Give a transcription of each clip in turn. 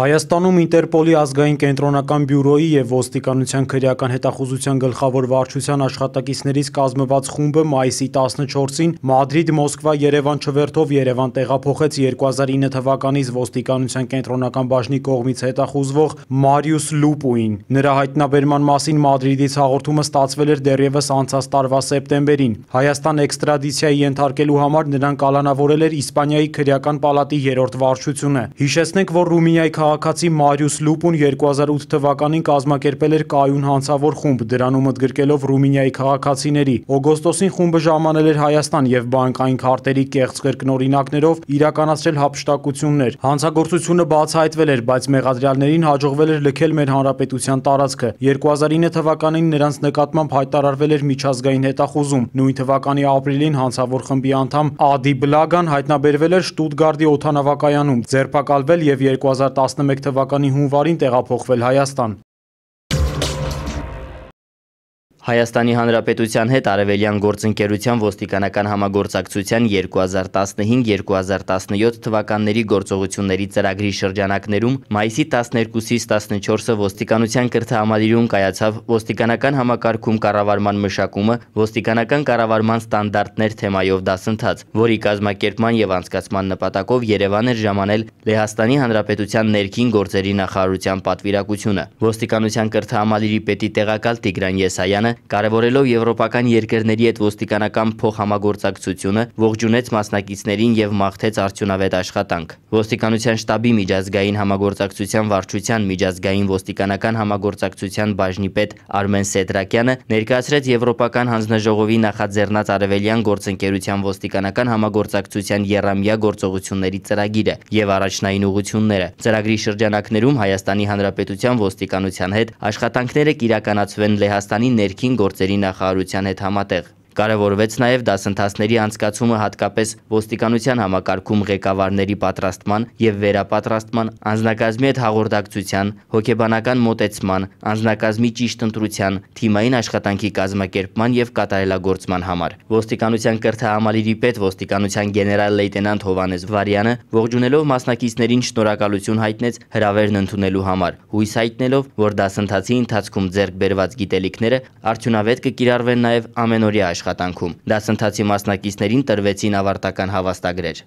Հայաստանում Ինտերպոլի ազգային կենտրոնական բյուրոյի և ոստիկանության քրեական հետախուզության գլխավոր վարչության աշխատակիցներից կազմված խումբը մայիսի 14-ին Մադրիդ-Մոսկվա-Երևան չվերթով Երևան տեղափոխեց 2009 թվականից ոստիկանության կենտրոնական բաժնի կողմից հետախուզվող Մարիուս Լուպուին։ Նրա հայտնաբերման մասին Մադրիդից հաղորդումը ստացվել էր դեռևս անցած տարվա սեպտեմբերին։ Հայաստան էքստրադիցիայի ենթարկելու համար նրան կալանավորել էր Իսպանիայի քրեական պալատի 3-րդ վարչությունը։ Հիշեցնենք, որ Ռումինիայի քաղաքացի Մարիուս Լուպուն 2008 թվականին կազմակերպել էր կայուն հանցավոր խումբ, դրանում ընդգրկելով Ռումինիայի քաղաքացիների։ Օգոստոսին խումբը ժամանել էր Հայաստան և բանկային քարտերի կեղծ կրկնօրինակներով իրականացրել հափշտակություններ։ Հանցագործությունը բացահայտվել էր, բայց մեղադրյալներին հաջողվել էր լքել մեր հանրապետության տարածքը։ 2009 թվականին նրանց նկատմամբ հայտարարվել էր միջազգային հետախուզում։ Նույն թվականի ապրիլին հանցավոր խմբի անդամ Ադի Բլագան հայտնաբերվել էր Շտուտգարտի օդանավակայանում, ձերբակալվել և 2011 թվականի հունվարին տեղափոխվել Հայաստան։ Հայաստանի Հանրապետության հետ Արևելյան գործընկերության ոստիկանական համագործակցության 2015-2017 թվականների գործողությունների ծրագրի շրջանակներում մայիսի 12-ից 14-ը ոստիկանության կրթահամալիրում կայացավ ոստիկանական համակարգում կառավարման մշակումը, ոստիկանական կառավարման ստանդարտներ թեմայով դասընթաց, որի կազմակերպման և անցկացման նպատակով Երևան էր ժամանել Լեհաստանի Հանրապետության ներքին գործերի նախարարության պատվիրակությունը։ Ոստիկանության կրթահամալիրի պետի տեղակալ Տիգրան Եսայանը կարևորելով եվրոպական երկրների հետ ոստիկանական փոխհամագործակցությունը ողջունեց մասնակիցներին և մաղթեց արդյունավետ աշխատանք։ Ոստիկանության շտաբի միջազգային համագործակցության վարչության միջազգային ոստիկանական համագործակցության բաժնի պետ Արմեն Սեդրակյանը ներկայացրեց Եվրոպական հանձնաժողովի նախաձեռնած Արևելյան գործընկերության ոստիկանական համագործակցության եռամյա գործողությունների ծրագիրը և առաջնային ուղղությունները։ Ծրագրի շրջանակներում Հայաստանի Հանրապետության ոստիկանության հետ աշխատանքները կիրականացվեն Լեհաստանի ներքին գործերի նախարարության հետ համատեղ։ Կարևորվեց նաև դասընթացների անցկացումը հատկապես ոստիկանության համակարգում ղեկավարների պատրաստման և վերապատրաստման, անձնակազմի հետ հաղորդակցության, հոգեբանական մոտեցման, անձնակազմի ճիշտ ընտրության, թիմային աշխատանքի կազմակերպման և կատարելագործման համար։ Ոստիկանության կրթահամալիրի պետ ոստիկանության գեներալ լեյտենանտ Հովհաննես Վարյանը ողջունելով մասնակիցներին շնորհակալություն հայտնեց հրավերն ընդունելու համար, հույս հայտնելով, որ դասընթացի ընթացքում ձեռք բերված գիտելիքները արդյունավետ կկիրառվեն նաև ամենօրյա աշխատանքում։ Դասընթացի մասնակիցներին տրվեցին ավարտական հավաստագրեր։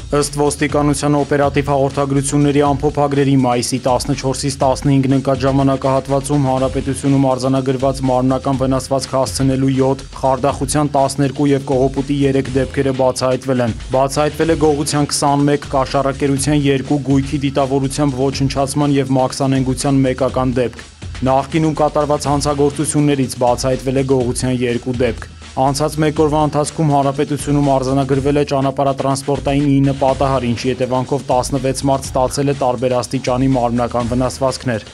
Ըստ ոստիկանության օպերատիվ հաղորդագրությունների ամփոփագրերի մայիսի 14-ից 15-ն ընկած ժամանակահատվածում հանրապետությունում արձանագրված մարմնական վնասվածք հասցնելու 7, խարդախության 12 և կողոպուտի 3 դեպքերը բացահայտվել են։ Բացահայտվել է գողության 21, կաշառակերության 2, գույքի դիտավորությամբ ոչնչացման և մաքսանենգության 1-ական դեպք։ Նախկինում կատարված հանցագործություններից բացահայտվել է գողության 2 դեպք։ Անցած մեկ օրվա ընթացքում հանրապետությունում արձանագրվել է ճանապարհատրանսպորտային 9 պատահար, ինչի հետևանքով 16 մարդ ստացել է տարբեր աստիճանի մարմնական վնասվածքներ։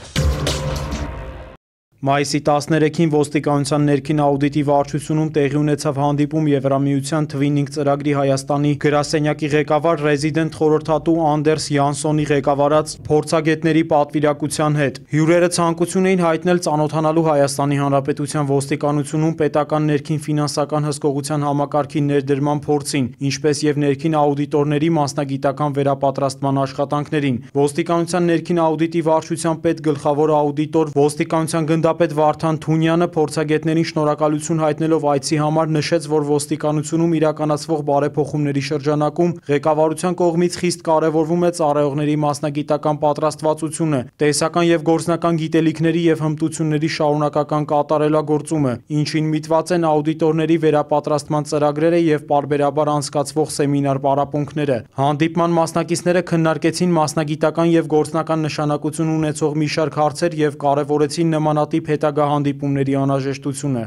Մայիսի 13-ին ոստիկանության ներքին աուդիտի վարչությունում տեղի ունեցավ հանդիպում Եվրամիության Թվինինգ ծրագրի Հայաստանի գրասենյակի ղեկավար ռեզիդենտ խորհրդատու Անդերս Յանսոնի ղեկավարած փորձագետների պատվիրակության հետ։ Հյուրերը ցանկություն էին հայտնել ծանոթանալու Հայաստանի Հանրապետության ոստիկանությունում պետական ներքին ֆինանսական հսկողության համակարգի ներդրման փորձին, ինչպես և ներքին աուդիտորների մասնագիտական վերապատրաստման աշխատանքներին։ Ոստիկանության ներքին աուդիտի վարչության պետգլխավոր աուդիտոր ոստիկանության գնդապետ Վարդան Թունյանը փորձագետներին շնորհակալություն հայտնելով այցի համար նշեց, որ ոստիկանությունում իրականացվող բարեփոխումների շրջանակում ղեկավարության կողմից խիստ կարևորվում է ծառայողների մասնագիտական պատրաստվածությունը, տեսական և գործնական գիտելիքների և հմտությունների շարունակական կատարելագործումը, ինչին միտված են աուդիտորների վերապատրաստման ծրագրերը և պարբերաբար անցկացվող սեմինար պարապմունքները։ Հանդիպման մասնակիցները քննարկեցին մասնագիտական և գործնական նշանակություն ունեցող մի շարք հարցեր և կարևորեցին նմանատիպ հետագա հանդիպումների անհրաժեշտությունը։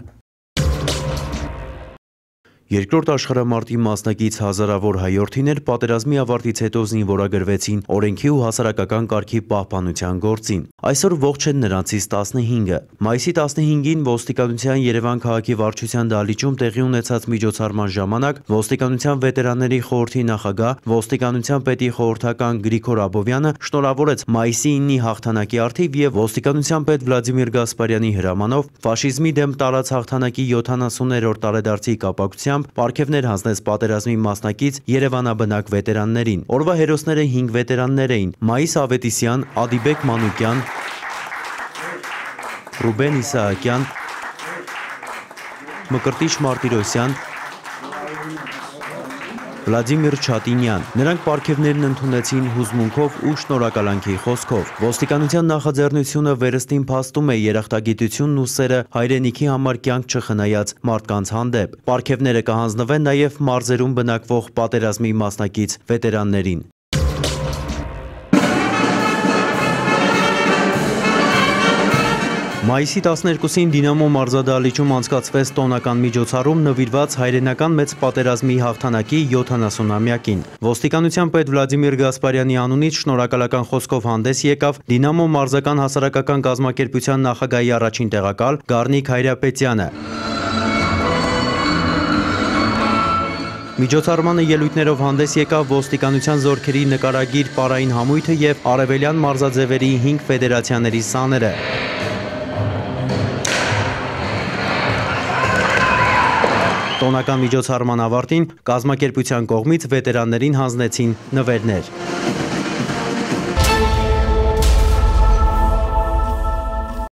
Երկրորդ աշխարհամարտի մասնակից հազարավոր հայորդիներ պատերազմի ավարտից հետո զինվորագրվեցին օրենքի ու հասարակական կարգի պահպանության գործին։ Այսօր ողջ են նրանցից 15-ը։ Մայիսի 15-ին ոստիկանության Երևան քաղաքի վարչության դահլիճում տեղի ունեցած միջոցառման ժամանակ ոստիկանության վետերանների խորհրդի նախագահ, ոստիկանության պետի խորհրդական Գրիգոր Աբովյանը շնորհավորեց մայիսի 9-ի հաղթանակի առթիվ եւ ոստիկանության պետ Վլադիմիր Գասպարյանի հրամանով ֆաշիզմի դեմ տարած հաղթանակի 70-րդ տարեդարձի կապակցությամբ պարգևներ հանձնեց պատերազմի մասնակից երևանաբնակ վետերաններին։ Օրվա հերոսները 5 վետերաններ էին՝ Մայիս Ավետիսյան, Ադիբեկ Մանուկյան, Ռուբեն Իսահակյան, Մկրտիչ Մարտիրոսյան, Վլադիմիր Չատինյան։ Նրանք պարգևներն ընդունեցին հուզմունքով ու շնորհակալանքի խոսքով։ Ոստիկանության նախաձեռնությունը վերստին փաստում է երախտագիտությունն ու սերը հայրենիքի համար կյանք չխնայած մարդկանց հանդեպ։ Պարգևները կհանձնվեն նաև մարզերում բնակվող պատերազմի մասնակից վետերաններին։ Մայիսի 12-ին Դինամո մարզադահլիճում անցկացվեց տոնական միջոցառում նվիրված հայրենական մեծ պատերազմի հաղթանակի 70-ամյակին։ Ոստիկանության պետ Վլադիմիր Գասպարյանի անունից շնորհակալական խոսքով հանդես եկավ Դինամո մարզական հասարակական կազմակերպության նախագահի առաջին տեղակալ Գառնիկ Հայրապետյանը։ Միջոցառմանը ելույթներով հանդես եկավ ոստիկանության զորքերի նկարագիր պարային համույթը և արևելյան մարզաձևերի 5 ֆեդերացիաների սաները։ Տոնական միջոցառման ավարտին կազմակերպության կողմից վետերաններին հանձնեցին նվերներ։